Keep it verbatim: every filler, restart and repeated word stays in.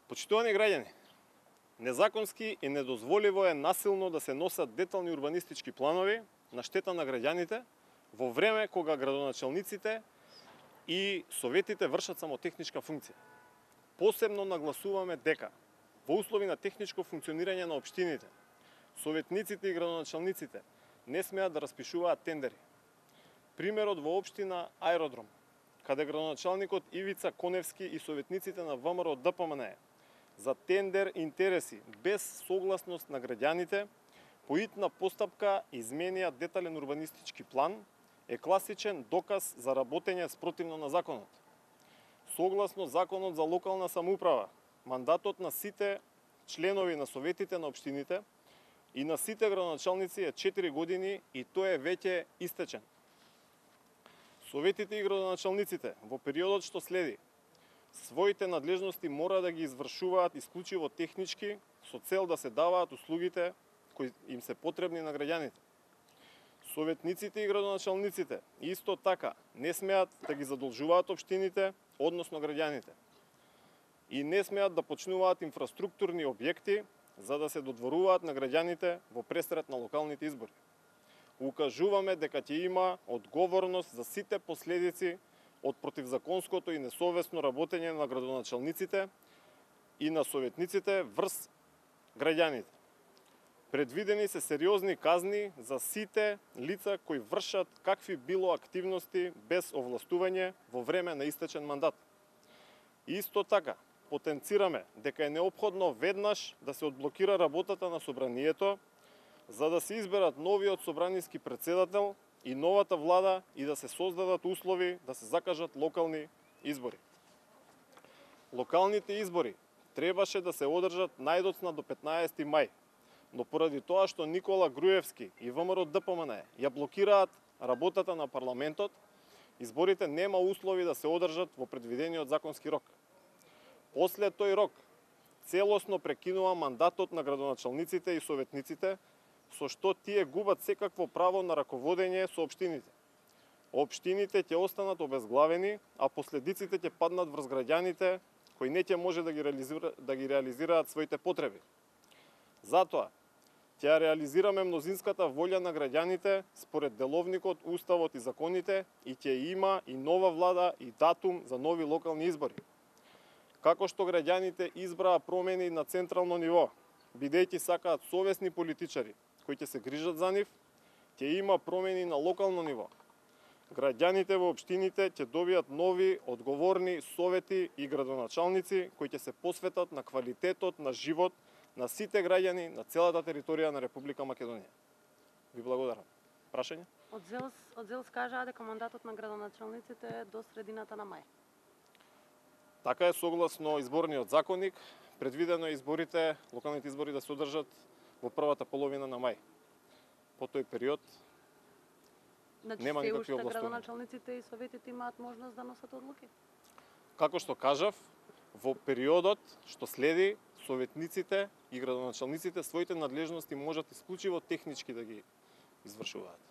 Почитувани граѓани, незаконски и недозволиво е насилно да се носат детални урбанистички планови на штета на граѓаните во време кога градоначалниците и советите вршат само техничка функција. Посебно нагласуваме дека во услови на техничко функционирање на општините, советниците и градоначалниците не смеат да распишуваат тендери. Примерот во општина Аеродром, каде градоначалникот Ивица Коневски и советниците на ВМРО Д П М Н за тендер интереси без согласност на граѓаните по итна постапка изменија детален урбанистички план е класичен доказ за работење спротивно на законот. Согласно Законот за локална самоуправа, мандатот на сите членови на советите на општините и на сите градоначалници е четири години и тој е веќе истечен. Советите и градоначалниците во периодот што следи своите надлежности мора да ги извршуваат исклучиво технички со цел да се даваат услугите кои им се потребни на граѓаните. Советниците и градоначалниците исто така не смеат да ги задолжуваат општините, односно граѓаните. И не смеат да почнуваат инфраструктурни објекти за да се додворуваат на граѓаните во пресрет на локалните избори. Укажуваме дека ќе има одговорност за сите последици од противзаконското и несовесно работење на градоначалниците и на советниците врз граѓаните. Предвидени се сериозни казни за сите лица кои вршат какви било активности без овластување во време на истечен мандат. Исто така, потенцираме дека е неопходно веднаш да се одблокира работата на собранието за да се изберат новиот собраниски претседател и новата влада и да се создадат услови да се закажат локални избори. Локалните избори требаше да се одржат најдоцна до петнаесети мај, но поради тоа што Никола Груевски и ВМРО Д П М Н ја блокираат работата на парламентот, изборите нема услови да се одржат во предвидениот законски рок. После тој рок, целосно прекинува мандатот на градоначалниците и советниците, со што тие губат секакво право на раководење со општините. Општините ќе останат обезглавени, а последиците ќе паднат врз граѓаните кои не ќе може да ги реализира, да ги реализираат своите потреби. Затоа, ќе реализираме мнозинската волја на граѓаните според деловникот, уставот и законите и ќе има и нова влада и датум за нови локални избори. Како што граѓаните избраа промени на централно ниво, бидејќи сакаат совесни политичари кои ќе се грижат за нив, ќе има промени на локално ниво. Граѓаните во општините ќе добијат нови, одговорни совети и градоначалници кои ќе се посветат на квалитетот на живот на сите граѓани на целата територија на Република Македонија. Ви благодарам. Прашање? Од ЗЕЛС, од ЗЕЛС кажаа дека мандатот на градоначалниците е до средината на мај. Така е согласно изборниот законник, предвидено е изборите, локалните избори да се одржат во првата половина на мај. По тој период значи, нема никакви областувања. областувања. Градоначалниците и советите имаат можност да носат одлуки? Како што кажав, во периодот што следи, советниците и градоначалниците своите надлежности можат исклучиво технички да ги извршуваат.